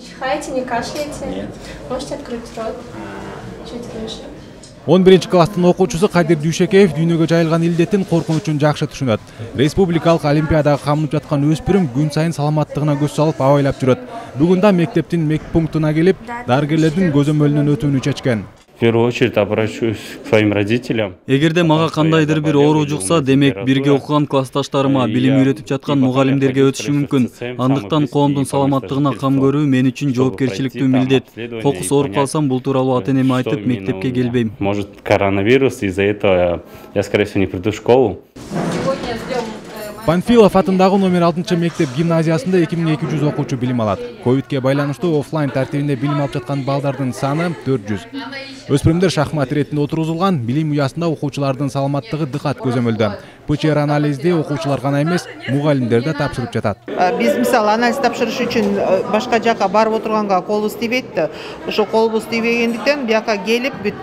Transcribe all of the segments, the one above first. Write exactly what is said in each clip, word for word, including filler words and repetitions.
чихаете, не кашляете? Нет. Можете открыть рот? Чуть выше. он биринчи класстын окуучусу Кадир Дүйшекеев дүйнөгө жайылган илдеттин коркунучун жакшы түшүнөт. Республикалык олимпиадага камынып жаткан өспүрүм күн сайын саламаттыгына көз салып абайлап жүрөт. Бүгүн да мектептин медпунктуна келип, дарыгерлердин көзөмөлүнөн өтүүнү чечкен. В первую очередь обращусь к своим родителям. Эгерде мага кандайдыр бир оору жукса, демек бирге окуган классташтарыма, билим үйрөтүп жаткан мугалимдерге өтүшү мүмкүн. Андыктан коомдун саламаттыгына кам көрүү мен үчүн жоопкерчиликтүү милдет. Кокус ооруп калсам, бул тууралуу ата-энеме айтып, мектепке келбейм. Может, коронавирус, из-за этого я, скорее всего, не приду в школу. Панфилов атындагы номер алтынчы мектеп гимназиясында эки миң эки жүз окуучу билим алат. Ковидке байланыштуу офлайн тартибинде билим алып жаткан балдардын саны төрт жүз. Өспүрүмдөр шахмат иретинде отургузулган, билим уясында окуучулардын саламаттыгы дыкат көзөмөлдө. ПЧР анализди окуучулар гана эмес, мугалимдер да тапшырып жатат. Биз мисалы анализ тапшырыш үчүн башка жака барып отурганга колубуз тийбейт да. Ошо колубуз тийбегендиктен бияка келип бүт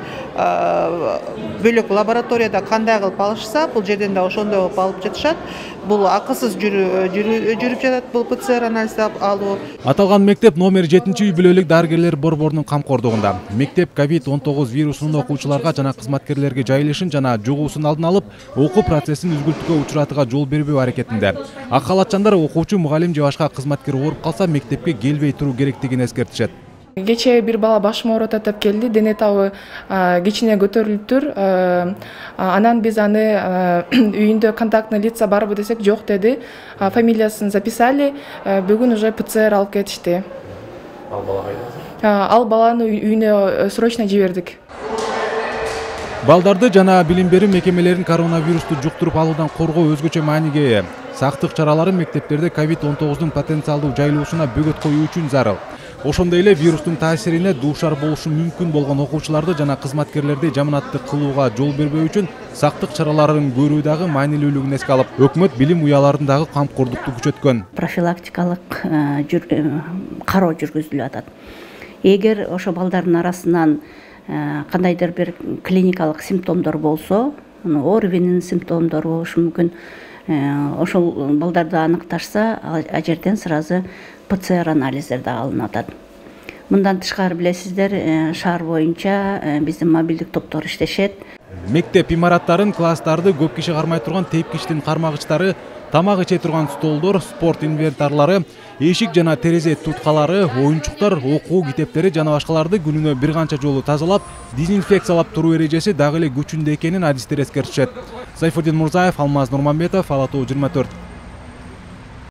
бөлөк лабораторияда кандай кылып алышса, бул жерден да ошондой кылып алып жатышат. Бул акысыз жүрүп жатат бул ПЦР анализ алуу. Аталган мектеп номер жетинчи үй бүлөлүк дарыгерлер борборунун камкордугунда. Мектеп ковид он тогуз вирусунун окуучуларга жана кызматкерлерге жайылышын жана жугуусун алдын алып, окуу процессин үзгүлтүккө учуратууга жол бербөө аракетинде. Ак халатчандар окуучу, мугалим же башка кызматкер ооруп калса, мектепке келбей туруу керектигин эскертишет. Кечээ бир бала башым ооруп атат деп келди, дене табы кичине көтөрүлүптүр. Анан биз аны үйүндө контактный лица барбы десек, жок деди. Фамилиясын записали, бүгүн уже ПЦР алып кетишти. Ал бала кайда? Ал баланы үйүнө срочно жибердик. Балдарды жана билим берүү мекемелерин коронавирусту жуктуруп алуудан коргоо өзгөчө мааниге ээ. Сактык чаралары мектептерде ковид он тогуздун потенциалдуу жайылуусуна бөгөт коюу үчүн зарыл. Ошондой эле вирустун таасирине дуушар болушу мүмкүн болгон окуучуларды жана кызматкерлерди жаманаттык кылууга жол бербөө үчүн сактык чараларын көрүү дагы маанилүүлүгүн эске алып, өкмөт билим уяларындагы камкордукту күчөткөн. Профилактикалык кароо жүргүзүлүп атат. Эгер ошо балдардын арасынан кандайдыр бир клиникалык симптомдор болсо, ОРВИнин симптомдору болушу мүмкүн. Ошол балдарды аныкташса, а жерден сразу ПЦР анализдер да алынып атат. Мындан тышкары билесиздер, шаар боюнча биздин мобилдик топтор иштешет. Мектеп имараттарын, класстарды көп киши кармай турган тепкичтин кармагычтары, тамак иче турган столдор, спорт инвентарлары, эшик жана терезе туткалары, оюнчуктар, окуу китептери жана башкаларды күнүнө бир канча жолу тазалап, дезинфекциялап туруу эрежеси дагы эле күчүндө экенин адистер эскертишет. Сайфуддин Мурзаев, Алмаз Нурманбетов, Ала Тоо жыйырма төрт.